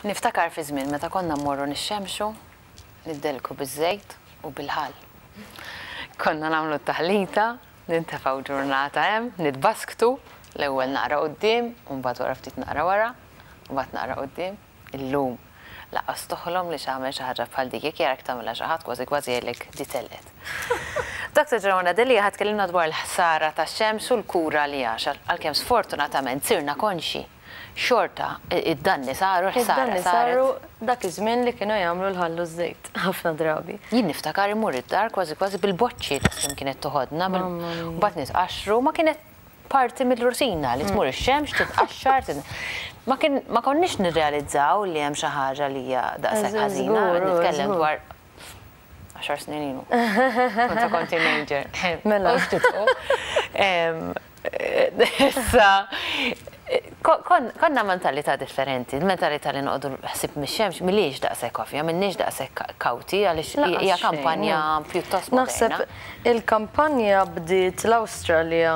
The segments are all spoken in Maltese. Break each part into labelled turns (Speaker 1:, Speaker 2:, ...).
Speaker 1: Niftakar fi żmien meta konna mmorru nixxemxu, niddelku biż-żejt u bil-ħall. Konna nagħmlu t-taħlita, nintefgħu ġurnata hemm, nitbasktu, l-ewwel naqra quddiem u mbagħad wara ftit naqra wara, u mbagħad naqra quddiem. Illum lanqas toħlom li tagħmel xi ħaġa bħal dik, jekk jarak tagħmilha xi ħadd kważi kważi jgħidlek di telqet. Dr. Joanna Delia ħa tkellimna dwar il-ħsara tax-xemx u l-kura għaliha, għalkemm sfortunatament sirna konxji. Xorta, id-danni saru, l-ħsara
Speaker 2: Id-danni
Speaker 1: saret.
Speaker 2: saru dak iż-żmien li kienu jagħmlu l-ħall u ż-żejt, ħafna drabi.
Speaker 1: Jien niftakar immur id-dar kważi kważi bil-boċċi kemm kienet toħodna,
Speaker 2: Mamma mia.
Speaker 1: mbagħad nitqaxxru, ma kienet parti mill-rutina li tmur ix-xemx, titqaxxar, ma kien ma konniex nirrealizzaw li hemm xi ħaġa li hija daqshekk ħażina,
Speaker 2: Żgur,
Speaker 1: nitkellem
Speaker 2: żgur.
Speaker 1: dwar 10 snin ilu. Kont kont teenager.
Speaker 2: Mela.
Speaker 1: U ftit u. Issa, konna mentalità differenti, il-mentalità li noqogħdu ħsieb mix-xemx mhijiex daqshekk ovvja, m'inniex daqshekk kawti għaliex
Speaker 2: Lanqas
Speaker 1: hija
Speaker 2: xejn,
Speaker 1: kampanja
Speaker 2: no.
Speaker 1: pjuttost
Speaker 2: Naħseb
Speaker 1: moderna.
Speaker 2: il-kampanja bdiet l-Awstralja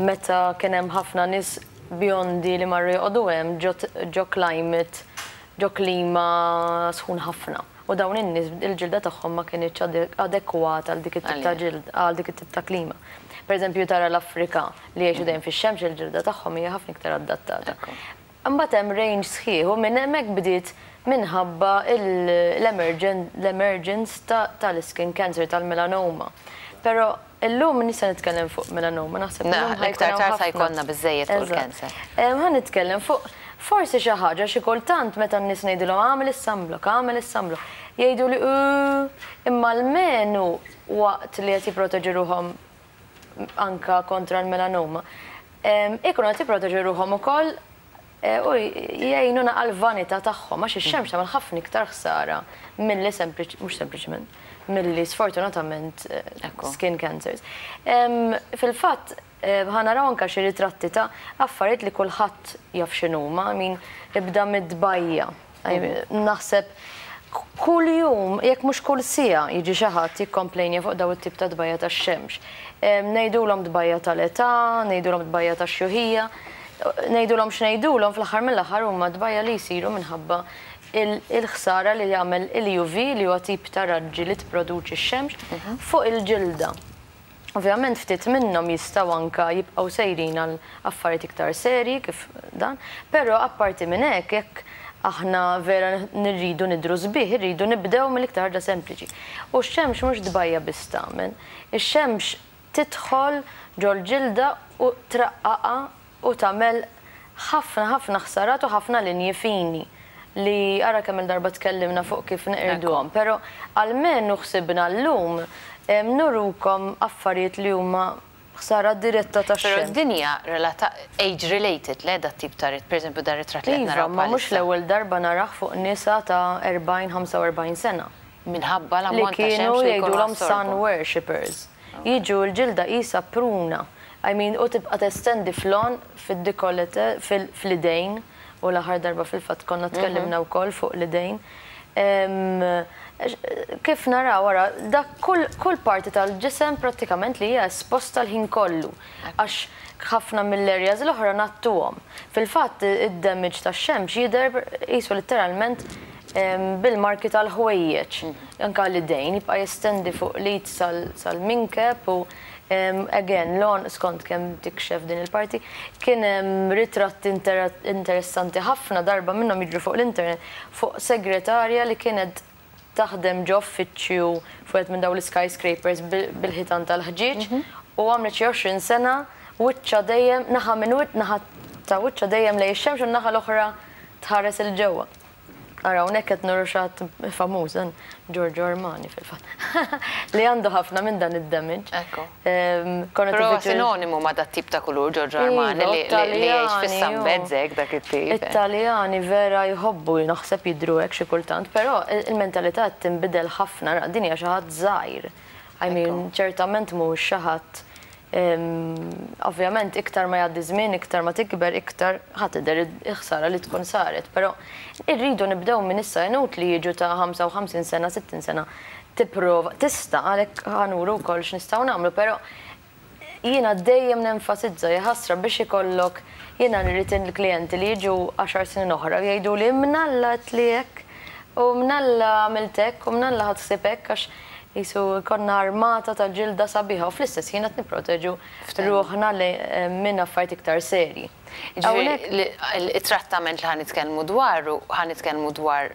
Speaker 2: meta kien hemm ħafna nies bjondi li marru joqogħdu hemm ġo ġo climate, ġo klima sħun ħafna. U dawn in-nies il-ġilda tagħhom ma kinitx adekwata għal dik it-tip ta'
Speaker 1: Għalija.
Speaker 2: ġild, għal dik it-tip ta' klima. Per eżempju tara l-Afrika li jgħixu dejjem fix-xemx, il-ġilda tagħhom hija ħafna iktar adattata.
Speaker 1: Ekku.
Speaker 2: Imbagħad hemm range sħiħ u minn hemmhekk bdiet minħabba l-emergence tal-skin cancer, tal-melanoma. Però illum nista' nitkellem fuq melanoma, naħseb
Speaker 1: Na,
Speaker 2: illum ħa jkun
Speaker 1: l-iktar
Speaker 2: hawn
Speaker 1: tard sa
Speaker 2: ħafna.
Speaker 1: jkollna biżejjed fuq
Speaker 2: Eżatt.
Speaker 1: il-cancer.
Speaker 2: Ħa nitkellem fuq forsi xi ħaġa xi kultant meta n-nies ngħidilhom agħmel is-sunblock, agħmel is-sunblock, jgħidu li imma almenu waqt li qed jipproteġu ruħhom anka kontra l-melanoma, ikunu qed jipproteġu ruħhom ukoll u jgħinu naqa l-vanità tagħhom għax ix-xemx tagħmel ħafna iktar ħsara milli sempliċ, mhux sempliċement, milli sfortunatament
Speaker 1: Ekku.
Speaker 2: skin cancers. Fil-fatt, ħa naraw anka xi ritratti ta' affarijiet li kulħadd jaf x'inhuma, I mean, ibda mid-dbajja. I mean, naħseb kull jum, jekk mhux kull siegħa jiġi xi ħadd jikkomplejnja fuq daw it-tip ta' dbajja tax-xemx. Ngħidulhom dbajja tal-età, ngħidulhom dbajja tax-xjuħija, ngħidulhom x'ngħidulhom fl-aħħar mill-aħħar huma dbajja li jsiru minħabba il-ħsara li jagħmel il-UV li huwa tip ta' raġġi li tipproduċi x-xemx fuq il-ġilda. Ovvjament ftit minnhom jistgħu anka jibqgħu sejrin għal affarijiet iktar serji kif dan, però apparti minn hekk jekk aħna vera nirridu nidru sbieħ, irridu nibdew mill-iktar ħaġa sempliċi. U x-xemx mhux dbajja biss tagħmel, ix-xemx tidħol ġol-ġilda u traqqaqha u tagħmel ħafna ħafna ħsarat u ħafna linji fini li ara kemm il-darba tkellimna fuq kif neqirduhom, però almenu ħsibna llum nurukom affarijiet li huma ħsara diretta
Speaker 1: Però
Speaker 2: tax-xemx.
Speaker 1: din hija relata age related le dat tip ta' per eżempju dar ritratt li qed
Speaker 2: Iva,
Speaker 1: naraw
Speaker 2: ma mhux
Speaker 1: bħalissa.
Speaker 2: l-ewwel darba narah fuq nisa ta' 40-45 sena.
Speaker 1: Minħabba
Speaker 2: Li
Speaker 1: l-ammont ta'
Speaker 2: kienu
Speaker 1: xemx li jkunu
Speaker 2: jgħidulhom sun
Speaker 1: assorbu.
Speaker 2: worshippers. Jiġu l-ġilda qisha pruna. I mean, u tibqa' testendi flon fid-decollete, fl-idejn, u l-aħħar darba fil-fatt konna tkellimna wkoll fuq l-idejn. Kif naraw wara, dak kull parti tal-ġisem prattikament li hija esposta l-ħin kollu. Għax ħafna mill-areas l-oħra ngħattuhom. Fil-fatt id-damage tax-xemx jidher qisu letteralment bil-marki tal-ħwejjeġ. Anka l-idejn jibqa' jestendi fuq l-id sal-minkeb u again, l-on skont kemm tikxef din il-parti, kien hemm ritratti interessanti ħafna darba minnhom jiġru fuq l-internet fuq segretarja li kienet taħdem ġo uffiċċju fuq minn dawn l-skyscrapers bil-ħitan tal-ħġieġ u għamlet xi 20 sena wiċċa dejjem naħa minn naħa ta' wiċċa dejjem lejn ix-xemx u naħa l-oħra tħares 'il ġewwa. Ara, hawnhekk qed nuru xi ħadd famuż, dan Giorgio Armani fil-fatt, li għandu ħafna minn dan id-damage.
Speaker 1: Ekku.
Speaker 2: Konna
Speaker 1: Però
Speaker 2: tifittxu-
Speaker 1: sinonimu ma' dat tip ta' kulur Giorgio Armani
Speaker 2: Iva,
Speaker 1: li jgħix
Speaker 2: Taljani,
Speaker 1: fis-sunbeds hekk dak it-tip.
Speaker 2: It-Taljani vera jħobbu naħseb jidru hekk xi kultant, però il-mentalità qed tinbidel ħafna, ra, din hija xi ħadd żgħir. I mean, ċertament mhux xi ħadd ovvjament iktar ma jgħaddi żmien, iktar ma tikber, iktar ħa tidher il-ħsara li tkun saret, però irridu nibdew minn issa inutli jiġu ta' 55 sena, 60 sena tipprova, tista' għalhekk ħa nuru wkoll x'nistgħu nagħmlu, però jiena dejjem nenfasizza jaħasra biex ikollok Jiena nrid il-klijenti li jiġu għaxar snin oħra u jgħiduli mnalla għedtli hekk u mnalla għamilt hekk u mnalla ħadt ħsieb hekk għax qisu jkollna armata ta' ġilda sabiħa u fl-istess ħin qed nipproteġu ruħna minn affarijiet iktar serji.
Speaker 1: Jiġifieri it-trattament li ħa nitkellmu dwaru, ħa nitkellmu dwar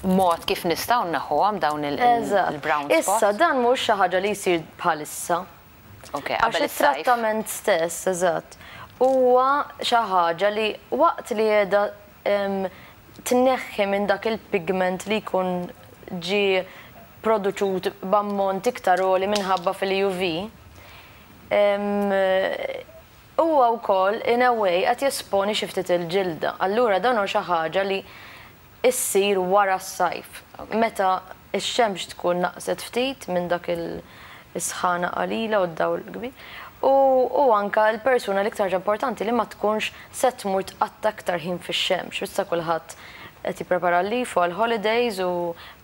Speaker 1: mod kif nistgħu nneħħuhom dawn il-brown spots.
Speaker 2: Issa dan mhuwiex xi ħaġa li jsir bħalissa.
Speaker 1: Ok, qabel
Speaker 2: is-sajf. Għax it-trattament stess, eżatt, huwa xi ħaġa li waqt li qiegħda tneħħi minn dak il-pigment li jkun ġie produċut b'ammont iktar għoli minħabba fil-UV, huwa wkoll in a way qed jesponi xi ftit il-ġilda. Allura dan hu xi ħaġa li issir wara s-sajf. Meta x-xemx tkun naqset ftit minn dak is-sħana qalila u d-dawl kbir. U anke l-persuna l-iktar ħaġa importanti li ma tkunx se tmur tqatta' iktar ħin fix-xemx. Issa kulħadd qed jipprepara għal-leave u għall-holidays u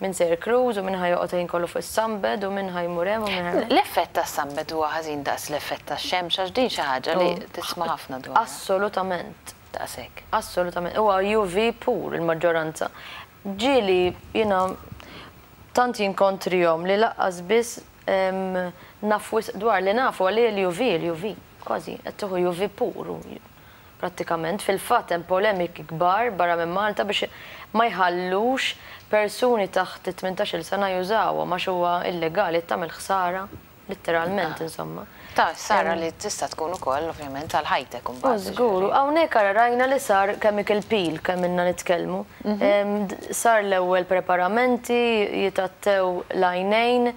Speaker 2: min sejjer cruise u min ħa joqgħod il-ħin kollu fuq is-sunbed u min ħa jmur hemm u min ħa jmur.
Speaker 1: L-effett tas-sunbed huwa ħażin daqs l-effett tax-xemx għax din xi ħaġa li tisma' ħafna dwarha.
Speaker 2: Assolutament.
Speaker 1: Daqshekk.
Speaker 2: Assolutament. Huwa UV pur il-maġġoranza. Ġieli jiena tant jinkontrihom li laqqas biss naf wisq dwar li nafu għalli l-UV, l-UV, kważi qed tieħu UV pur u Prattikament, fil-fatt hemm polemiki kbar barra minn Malta biex ma jħallux persuni taħt it-18-il sena jużawhom għax huwa illegali, qed tagħmel ħsara, litteralment insomma.
Speaker 1: Ta' ħsara li tista' tkun ukoll ovvjament għal ħajtek imbagħad.
Speaker 2: Żgur, u hawnhekk ara rajna li sar chemical peel kemm ilna nitkellmu. Sar l-ewwel preparamenti, jitgħattew l-għajnejn,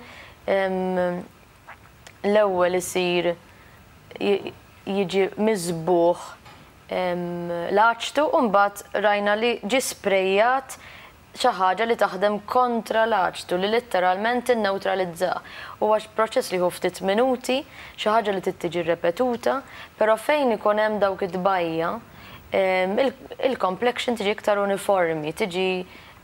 Speaker 2: l-ewwel isir jiġi miżbugħ l-aċtu u mbagħad rajna li ġie sprejjat xi ħaġa li taħdem kontra l-aċtu li litteralment tinnewtralizzah. Huwa proċess li jieħu ftit minuti, xi ħaġa li trid tiġi rrepetuta, però fejn ikun hemm dawk it-tbajja', il-complexion tiġi iktar uniformi, tiġi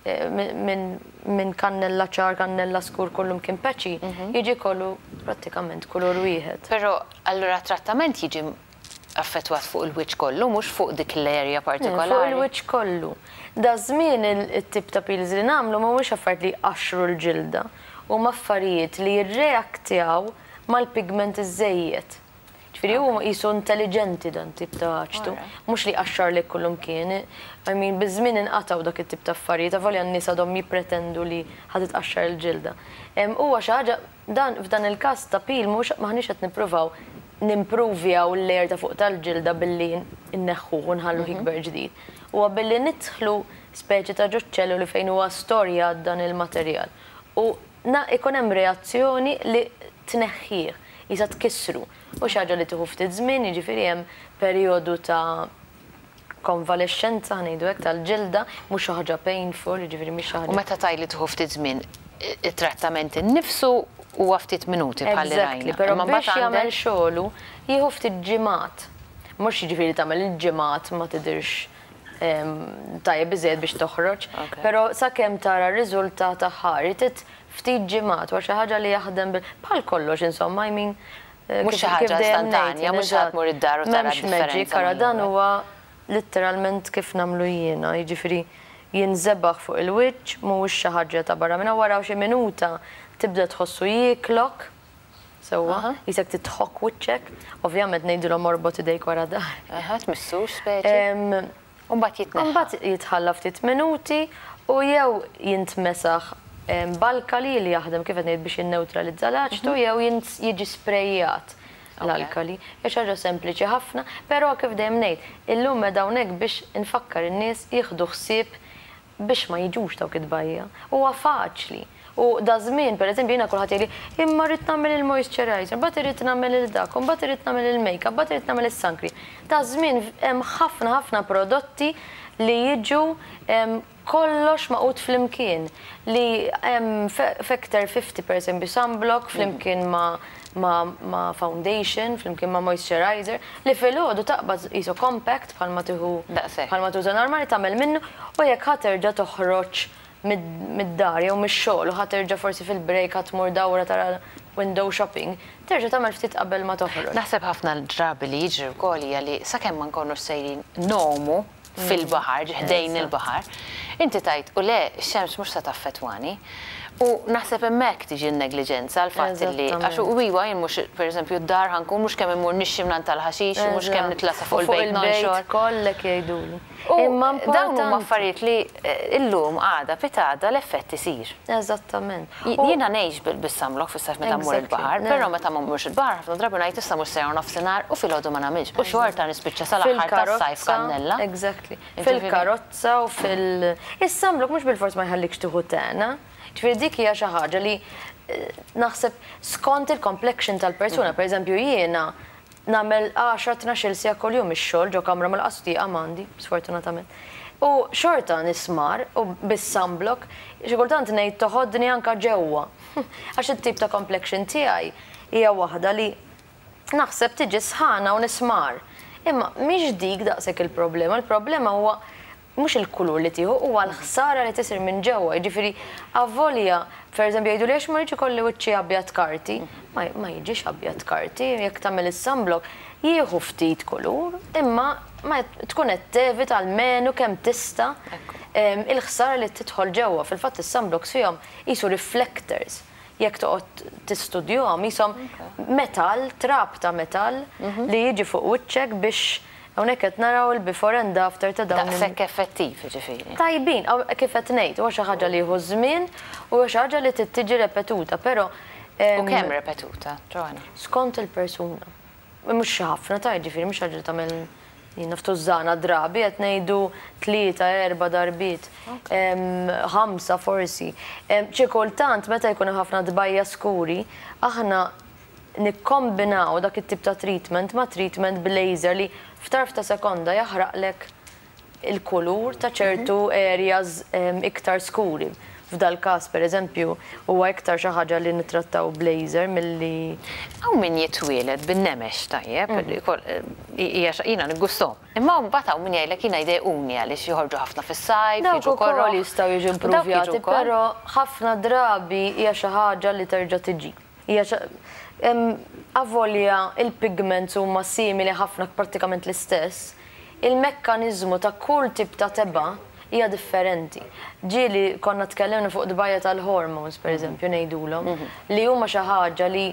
Speaker 2: minn kannella ċar, kannella skur kullumkien patchy, jiġi kollu prattikament kulur wieħed.
Speaker 1: Però allura t-trattament jiġi affettwat fuq il-wiċċ kollu, mhux fuq dik l-area partikolari?
Speaker 2: Fuq il-wiċċ kollu. Daż-żmien it-tip ta' peels li nagħmlu mhumiex affarijiet li jqaxxru l-ġilda, huma affarijiet li jirreaktjaw mal-pigment iż-żejjed. Ġifieri hu qisu intelliġenti dan tip ta' aċtu. Mhux li jqaxxarlek kullumkien. I mean biż-żmien inqatgħu dak it-tip ta' affarijiet avolja n-nies għadhom jippretendu li ħa titqaxxar il-ġilda. Huwa xi ħaġa dan f'dan il-każ ta' peel mhux m'aħniex qed nippruvaw nimpruvjaw il-layer ta' fuq tal-ġilda billi nneħħuh u nħalluh jikber ġdid. Huwa billi nidħlu speċi ta' ġo ċ-ċelluli fejn huwa storjat dan il-materjal u ikun hemm reazzjoni li tneħħih. Qisha tkissru. U xi ħaġa li tieħu ftit żmien, jiġifieri hemm perjodu ta' konvalexxenza, ħa ngħidu hekk, tal-ġilda, mhux xi ħaġa painful, jiġifieri mhix xi ħaġa.
Speaker 1: U meta tgħid li tieħu ftit żmien, it-trattament innifsu huwa ftit minuti bħal li rajna.
Speaker 2: Exactly, però biex jagħmel xogħlu jieħu ftit ġimgħat. Mhux jiġifieri tagħmel il-ġimgħat ma tidhirx tajjeb biżżejjed biex toħroġ, però sakemm tara r-riżultat aħħari trid Ftit ġimgħat, huwa xi ħaġa li jaħdem bil, bħal kollox insomma, I mean,
Speaker 1: Mhux xi ħaġa istantanja, mhux ħa tmur id-dar u tara d-differenza.
Speaker 2: M'hemmx magic, ara dan huwa litteralment kif nagħmlu jiena, jiġifieri jinżebagħ fuq il-wiċċ, mhuwiex xi ħaġa ta' barra minn hawn, wara xi minuta tibda tħossu jieklok, sewwa, qisek titħokk wiċċek, ovvjament ngħidilhom orbot idejk wara dahrek.
Speaker 1: Aha, tmissux speċi. U mbagħad jitneħħa.
Speaker 2: U mbagħad jitħalla ftit minuti u jew jintmesaħ b'alkali li jaħdem kif qed ngħid biex jinnewtralizza l-aċtu jew jiġi sprejjat l-alkali. Hija xi ħaġa sempliċi ħafna, però kif dejjem ngħid, illum qiegħda hawnhekk biex infakkar in-nies jieħdu ħsieb biex ma jiġux dawk it-tbajja'. Huwa faċli. U daż-żmien, per eżempju, jiena kulħadd jgħidli, imma rrid nagħmel il-moisturizer, mbagħad irrid nagħmel il dak, u mbagħad irrid nagħmel il-makeup, mbagħad irrid nagħmel is-suncream. Daż-żmien hemm ħafna ħafna prodotti li jiġu kollox magħqud flimkien. Li hemm Factor 50 per eżempju sunblock flimkien ma' ma' foundation, flimkien ma' moisturizer, li filgħodu taqbad qisu compact bħalma tieħu bħalma tuża normali tagħmel minnu u jekk ħa terġa' toħroġ mid-dar jew mix-xogħol u ħa terġa' forsi fil-break ħa tmur dawra tara window shopping, terġa' tagħmel ftit qabel ma toħroġ.
Speaker 1: Naħseb ħafna drabi li jiġri wkoll hija li sakemm ma nkunux sejrin ngħumu fil-baħar, ħdejn il-baħar, inti tgħid u le, x-xemx mhux se taffettwani. U naħseb hemmhekk tiġi n-negliġenza, l-fatt li għax u iwa jien mhux, pereżempju, d-dar ħa nkun mhux kemm immur nixxi minn tal-ħaxix, mhux kemm nitlasa fuq il-bejt nonxor.
Speaker 2: Kollek jgħiduli.
Speaker 1: U dawn huma affarijiet li illum, għada, pitgħada l-effett isir.
Speaker 2: Eżattament.
Speaker 1: Jiena ngħix bis-sunblock fis-sajf meta mmur il-baħar, però meta ma mmurx il-baħar ħafna drabi ngħid issa mhux sejra nofsinhar u filgħodu ma nagħmilx. U xorta nispiċċa sal-aħħar tas-sajf kannella.
Speaker 2: Exactly. Fil-karozza u fil- Is-sunblock mhux bilfors ma jħallikx tieħu tan. Ġifieri dik hija xi ħaġa li naħseb skont il-complexion tal-persuna, per eżempju jiena nagħmel 10-12 siegħa kuljum ix-xogħol ġo kamra mal-qastieqa m'għandi, sfortunatament. U xorta nismar u bis-sunblock, xi kultant ngħid toħodni anka ġewwa. Għax it-tip ta' complexion tiegħi hija waħda li naħseb tiġi sħana u nismar. Imma mhix dik daqshekk il-problema, il-problema huwa mhux il-kulur li tieħu, huwa l-ħsara li tisir minn ġewwa. Jiġifieri avolja, per eżempju, jgħidu li għax ma rridx ikolli wiċċi abjad karti, ma jiġix abjad karti, jekk tagħmel is-sunblock jieħu ftit kulur, imma ma tkun qed tevita almenu kemm tista' il-ħsara li tidħol ġewwa. Fil-fatt is-sunblocks fihom qisu reflectors. Jekk toqgħod tistudjuhom qishom metal, trab ta' metal li jiġi fuq wiċċek biex hawnhekk qed naraw il-before and after ta' dawn.
Speaker 1: Daqshekk effettiv, ġifieri.
Speaker 2: Tajbin, kif qed ngħid, huwa xi ħaġa li jieħu żmien u huwa xi ħaġa li trid tiġi repetuta, però
Speaker 1: U kemm repetuta, Joanna?
Speaker 2: Skont il-persuna. Mhux xi ħafna ta' ġifieri mhux ħaġa li tagħmel jien naf tużżana drabi, qed ngħidu tlieta, erba' darbiet, ħamsa forsi. Xi kultant meta jkun hemm ħafna tbajja skuri, aħna nikkombinaw dak it-tip ta' treatment ma' treatment b'laser li f'tarf ta' sekonda jaħraqlek il-kulur ta' ċertu areas iktar skuri. F'dal każ, per eżempju, huwa iktar xi ħaġa li nittrattaw b'laser milli
Speaker 1: Hawn min jitwieled bin-nemex tajjeb, jiena niggustom. Imma mbagħad hawn min jgħidlek jiena jdejquni għaliex joħorġu ħafna fis-sajf,
Speaker 2: Dawk
Speaker 1: jiġu
Speaker 2: ukoll
Speaker 1: korroħ.
Speaker 2: jistgħu jiġu
Speaker 1: U dawk jiġu
Speaker 2: improvjati,
Speaker 1: wkoll.
Speaker 2: però ħafna drabi hija xi ħaġa li terġa' tiġi. Hija avolja il-pigments huma simili ħafna, prattikament l-istess, il-mekkaniżmu ta' kull tip ta' tebgħa hija differenti. Ġieli konna tkellimna fuq tbajja tal-hormones, per eżempju, ngħidulhom, li huma xi ħaġa li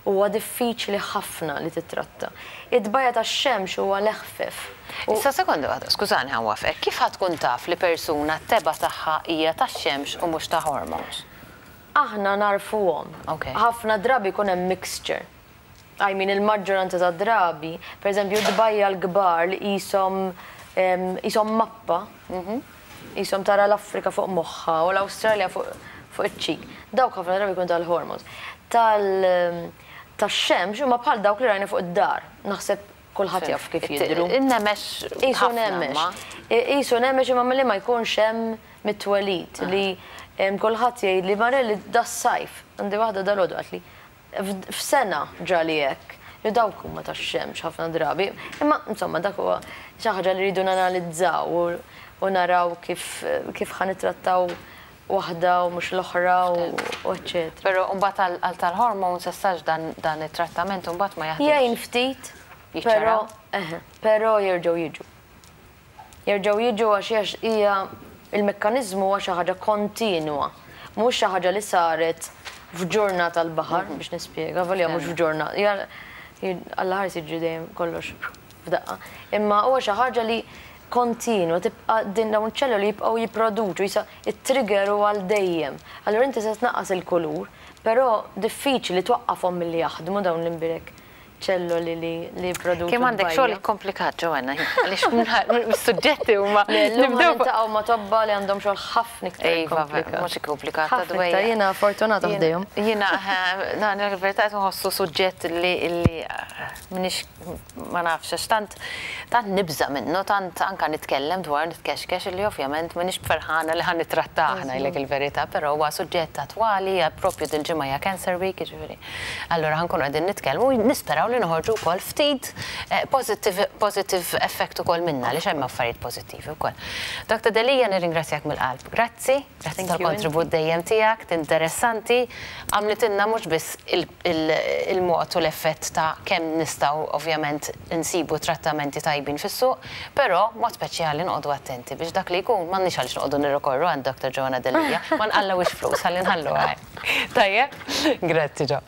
Speaker 2: huwa diffiċli ħafna li titratta. It-tbajja tax-xemx huwa l-eħfef.
Speaker 1: Issa sekonda waħda, skużani ħa nwaqqfek, kif ħa tkun taf li persuna t-tebgħa tagħha hija tax-xemx u mhux ta' hormones?
Speaker 2: Aħna narfuhom. Ħafna drabi jkun hemm mixture. I mean, il-maġġoranza ta' drabi, per eżempju, tbajja l-kbar li qishom mappa, qishom tara l-Afrika fuq moħħa u l-Awstralja fuq iċ-ċik. Dawk ħafna drabi jkun tal-hormones. Tax-xemx huma bħal dawk li rajna fuq id-dar. Naħseb kulħadd jaf kif jidhru.
Speaker 1: In-nemex
Speaker 2: Qisu
Speaker 1: ħafna
Speaker 2: nemex.
Speaker 1: ma.
Speaker 2: Qisu nemex imma milli ma jkunx hemm mit-twelid li kulħadd jgħid li Marelli das-sajf. Għandi waħda dalgħodu qaltli f'sena ġrali hekk. Li dawk huma tax-xemx ħafna drabi. Imma insomma dak huwa xi ħaġa li rridu nanalizzaw u naraw kif ħa nittrattaw waħda u mhux l-oħra u eċċetera.
Speaker 1: Però mbagħad għal tal-hormones essax dan it-trattament mbagħad ma jaħdimx.
Speaker 2: Jgħin ftit,
Speaker 1: Jiċċara?
Speaker 2: però jerġgħu jiġu. Jerġgħu jiġu għax hija il-mekkaniżmu huwa xi ħaġa kontinwa, mhux xi ħaġa li saret f'ġurnata tal-baħar, biex nispjega, volja mhux f'ġurnata. Alla ħares jiġri dejjem kollox f'daqqa. Imma huwa xi ħaġa li kontinwa, tibqa' din dawn iċ-ċelluli jibqgħu jipproduċu, jisa it-trigger huwa għal dejjem. Allura inti se tnaqqas il-kulur, però diffiċli twaqqafhom milli jaħdmu dawn l-imbirek ċelloli li jipproduċu
Speaker 1: Kemm għandek
Speaker 2: l-bajja.
Speaker 1: xogħol komplikat, Joanna, għaliex mis-suġġetti huma
Speaker 2: Le, llum
Speaker 1: nibdew
Speaker 2: niltaqgħu ma' tobba li għandhom xogħol ħafna iktar
Speaker 1: Iva,
Speaker 2: komplikat.
Speaker 1: mhux komplikat,
Speaker 2: Ħafna
Speaker 1: dwejja.
Speaker 2: iktar, jiena fortunata ħdejhom.
Speaker 1: Jiena, na, il-verità qed nħossu suġġett li minix ma nafx, għax tant nibża minnu, tant anka nitkellem dwar nitkexkex li ovvjament minix ferħana li ħa nittrattah ngħidlek il-verità, però huwa suġġett attwali, hija propju dil-ġimgħa hija Cancer Week, jiġifieri. Allura ħa nkunu qegħdin nitkellmu u nisperaw naraw li noħorġu wkoll ftit positive positive effect ukoll minnha għaliex hemm affarijiet pożittivi wkoll. Dr. Delia nirringrazzjak mill-qalb. Grazzi, grazzi tal-kontribut dejjem tiegħek, interessanti, għamlitilna mhux biss il-mod u l-effett ta' kemm nistgħu ovvjament insibu trattamenti tajbin fis-suq, però mod speċjali noqogħdu attenti biex dak li jkun m'għandniex għaliex noqogħdu nirrikorru għand Dr. Joanna Delia, ma nqallgħux flus ħalli nħalluha hekk. Tajjeb? Grazzi Jo.